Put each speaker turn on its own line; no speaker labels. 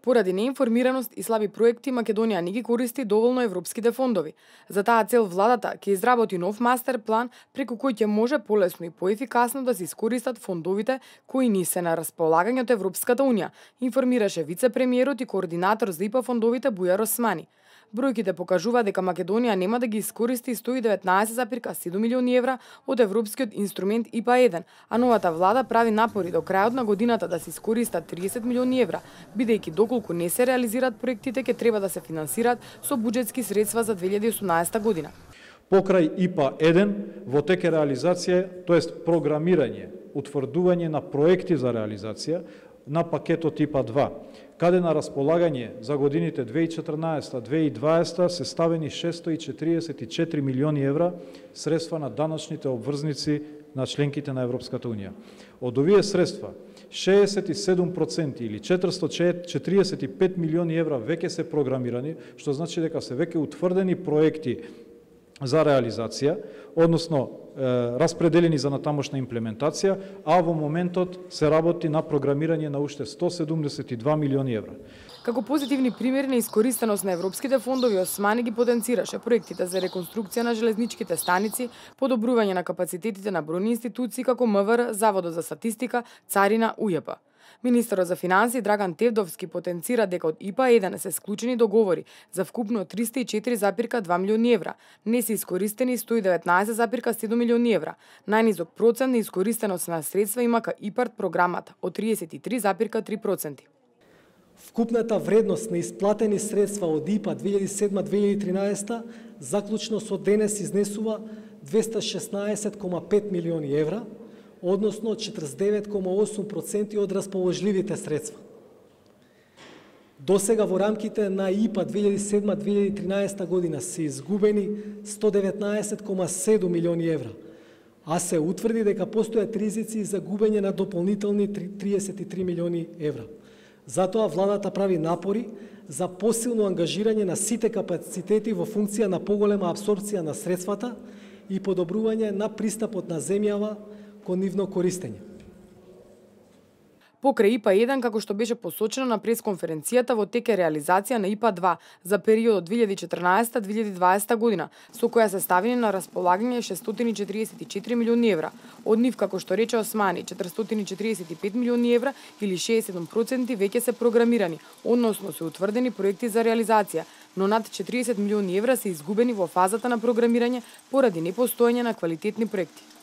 Поради неинформираност и слаби проекти, Македонија не ги користи доволно европските фондови. За таа цел владата ќе изработи нов мастер план преку кој ќе може полесно и поефикасно да се искористат фондовите кои ни се на располагање од Европската унија, информираше вице-премиерот и координатор за ИПА фондовите Бујар Османи. Бројките покажува дека Македонија нема да ги искористи 119,7 милиони евра од европскиот инструмент ИПА-1, а новата влада прави напори до крајот на годината да се искористат 30 милиони евра, бидејќи доколку не се реализираат проектите ќе треба да се финансираат со буџетски средства за 2018 година.
Покрај ИПА-1 во тек е реализација, тоест програмирање, утврдување на проекти за реализација на пакетот ИПА-2, каде на располагање за годините 2014-2020 се ставени 644 милиони евра средства на данъчните обврзници на членките на Европската унија. Од овие средства, 67% или 445 милиони евра веќе се програмирани, што значи дека се веќе утврдени проекти за реализација, односно распределени за натамошна имплементација, а во моментот се работи на програмирање на уште 172 милиони евра.
Како позитивни примери на искористеност на европските фондови, Османи ги потенцираше проектите за реконструкција на железничките станици, подобрување на капацитетите на бројни институции како МВР, Заводот за статистика, Царина, УЈП. Министерот за финансии Драган Тевдовски потенцира дека од ИПА-1 се склучени договори за вкупно 304,2 милиони евра, не се искористени 119,7 милиони евра. Најнизок процент на искористеност на средства има ка ИПАРТ програмата од 33,3%.
Вкупната вредност на исплатени средства од ИПА 2007-2013 заклучно со денес изнесува 216,5 милиони евра, односно 49,8% од расположливите средства. Досега во рамките на ИПА 2007-2013 година се изгубени 119,7 милиони евра, а се утврди дека постојат ризици за губење на дополнителни 33 милиони евра. Затоа владата прави напори за посилно ангажирање на сите капацитети во функција на поголема апсорбција на средствата и подобрување на пристапот на земјава кон нивно користење.
Покрај ИПА-1, како што беше посочено на пресконференцијата, во тек е реализација на ИПА-2 за периодот 2014-2020 година, со која се ставени на располагање 644 милиони евра. Од нив, како што рече Османи, 445 милиони евра или 67% веќе се програмирани, односно се утврдени проекти за реализација, но над 40 милиони евра се изгубени во фазата на програмирање поради непостоење на квалитетни проекти.